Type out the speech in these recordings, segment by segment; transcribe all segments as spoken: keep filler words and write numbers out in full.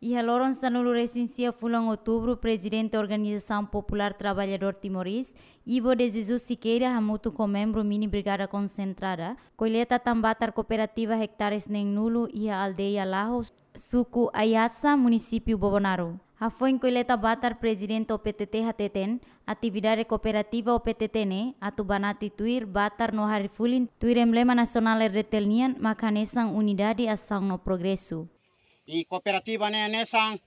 Iha loron sanulu-resin-sia fulan Outubru, Prezidente Organizasaun Populár Traballadór Timorés, Ivo de Jesus Siqueira, hamutuk ho membru Mini Brigada Konsentrada, kolleta tan batar kooperativa ektares neen-nulu iha aldeia Laho, suku Aiasa, munisípiu Bobonaro. Hafoin kolleta batar, Prezidente O P T T hateten, atividade kooperativa O P T T ne'e atu banati tuir batar no harii fulin tuir emblema nasionál R D T L nian, mak hanesan unidade, asaun no progresu. I kooperativa ne'e hanesan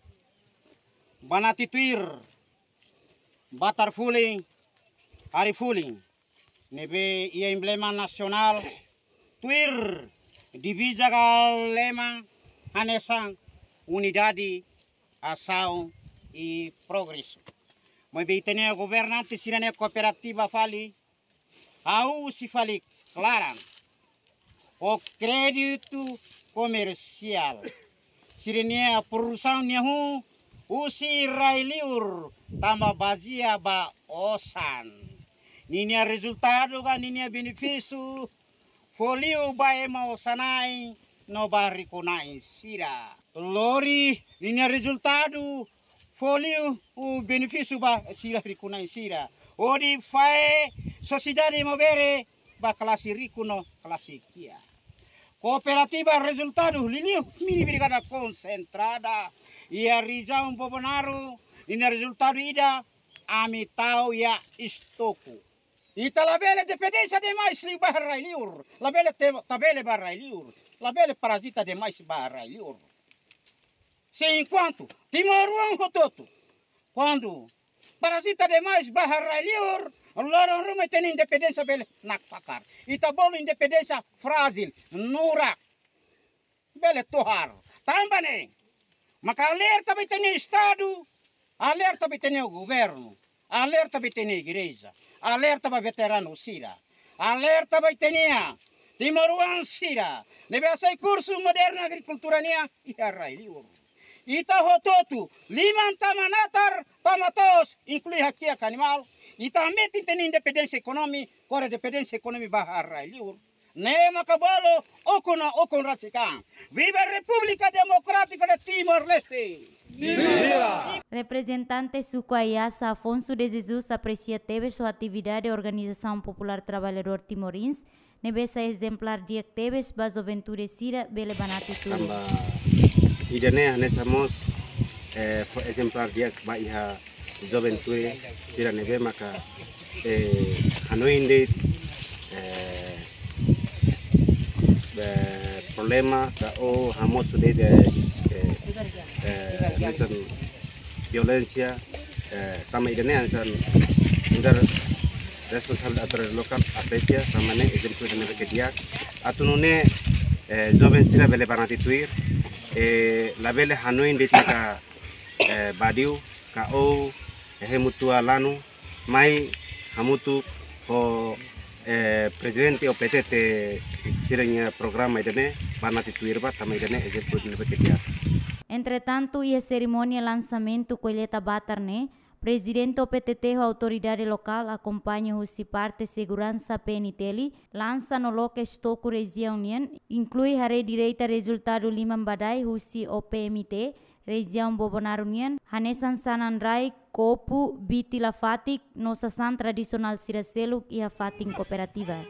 banati tuir batar fulin, harii fulin. Ne'ebé iha emblema nasionál tuir diviza ka lema hanesan unidade, asaun i progresu. Maibé ita-nia governante sira-nia kooperativa fali, ha'u husi fali klaran. Ho kréditu komersiál. Sira-nia produsaun ne'e hahú husi rai-liur tanba bazeia ba osan. Ninia rezultadu ka ninia benefísiu fó liu ba ema osan-na'in no ba rikunain sira. Lori ninia rezultadu fó liu benefísiu ba sira rikunain sira. Hodi fahe sosiedade maubere ba klase riku no klase kiak. Kooperativa rezultadu liuliu Mini Brigada Konsentrada iha rejiaun Bobonaro, ninia rezultadu ida, ami tau iha estoku. Ita labele dependénsia demais liu ba rai-liur. Labele te-, tabele ba rai-liur. Labele parazita demais ba rai-liur. Se enkuantu timoroan hotu-hotu, kuandu parazita demais ba rai-liur, loron ruma ita-nia independénsia bele nakfakar. Ita bolu independénsia frájil, nurak. Bele tohar. Tanba ne'e maka alerta ba ita-nia Estadu, alerta ba ita-nia governu, alerta ba ita-nia igreja, alerta ba veteranu sira, alerta ba ita-nia timoroan sira ne'ebé hasai kursu modernu agrikultura nian iha rai-liur. Ita hotu-hotu, liman tama natar, tama to'os, inklui hakiak animál, ita hametin ita-nia independénsia ekonomi, kore dependénsia ekonomi ba rai-liur. Ne'e maka bolu ukun no ukun rasik an. Viva República Democrática de Timor-Leste! Viva! Reprezentante suku Aiasa, Afonso de Jesus, apresia tebes ho atividade Organizasaun Populár Traballadór Timorins, ne'ebé sai ezemplár di'ak tebes ba juventude sira bele banati tuir. Tanba ida-ne'e hanesan mós, eh, fó ezemplár di'ak ba iha juventude sira ne'ebé maka, eh, hanoin de'it, eh, eh, problema ka ou hamosu de'it, eh, eh, hanesan violénsia, eh, tanba ida-ne'e hanesan nu'udar responsavel autoridade lokál apresia, tanba ne'e ezemplu ida-ne'ebé ke di'ak. Atu nune'e, eh, joven sira bele banati tuir, eh, labele hanoin de'it maka, eh, badiu ka ou, eh, hemu tua lanu, mai hamutuk ho, eh, Prezidente O P T T sira-nia programa ida-ne'e, banati tuir ba, tanba ida-ne'e ezemplu ida-ne'ebé ke di'ak. Entretantu, iha serimónia lansamentu kolleta batar ne'e, Prezidente O P T T ho autoridade lokál akompaña husi parte seguransa P N T L, lansa no loke estoku rejiaun nian, inklui haree direita rezultadu liman badai husi O P M T, rejiaun Bobonaro nian, hanesan sanan rai, kopu, biti la fatik, no sasán tradisionál sira seluk iha fatin kooperativa.